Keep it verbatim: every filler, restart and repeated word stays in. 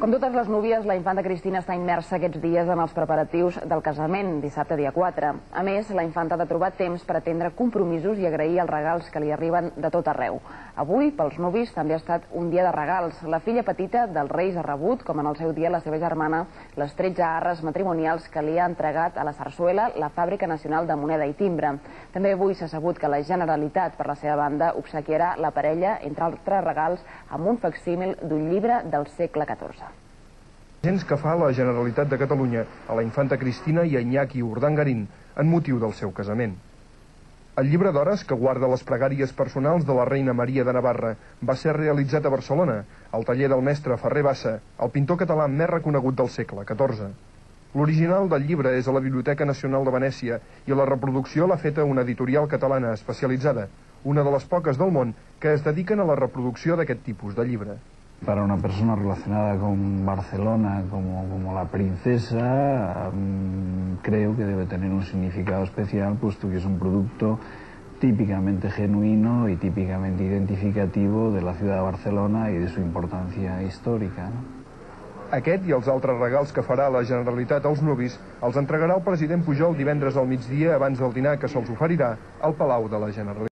Com totes les núvies, la infanta Cristina està immersa aquests dies en els preparatius del casament, dissabte dia quatre. A més, la infanta ha de trobar temps per atendre compromisos i agrair els regals que li arriben de tot arreu. Avui, pels nuvis, també ha estat un dia de regals. La filla petita dels Reis ha rebut, com en el seu dia la seva germana, les tretze arres matrimonials que li ha entregat a la Sarsuela la Fàbrica Nacional de Moneda i Timbre. També avui s'ha sabut que la Generalitat, per la seva banda, obsequiarà la parella, entre altres regals, amb un facsímil d'un llibre del segle catorze. Gens que fa la Generalitat de Catalunya a la infanta Cristina i a Iñaki Urdangarín en motiu del seu casament. El llibre d'hores, que guarda les pregàries personals de la reina Maria de Navarra, va ser realitzat a Barcelona, al taller del mestre Ferrer Bassa, el pintor català més reconegut del segle catorze. L'original del llibre és a la Biblioteca Nacional de Venècia i la reproducció l'ha feta una editorial catalana especialitzada, una de les poques del món que es dediquen a la reproducció d'aquest tipus de llibre. Para una persona relacionada con Barcelona como, como la princesa, um, creo que debe tener un significado especial, puesto que es un producto típicamente genuino y típicamente identificativo de la ciudad de Barcelona y de su importancia histórica, ¿no? Aquest i els altres regals que farà la Generalitat als nuvis els entregarà el president Pujol divendres al migdia abans del dinar que se'ls oferirà al Palau de la Generalitat.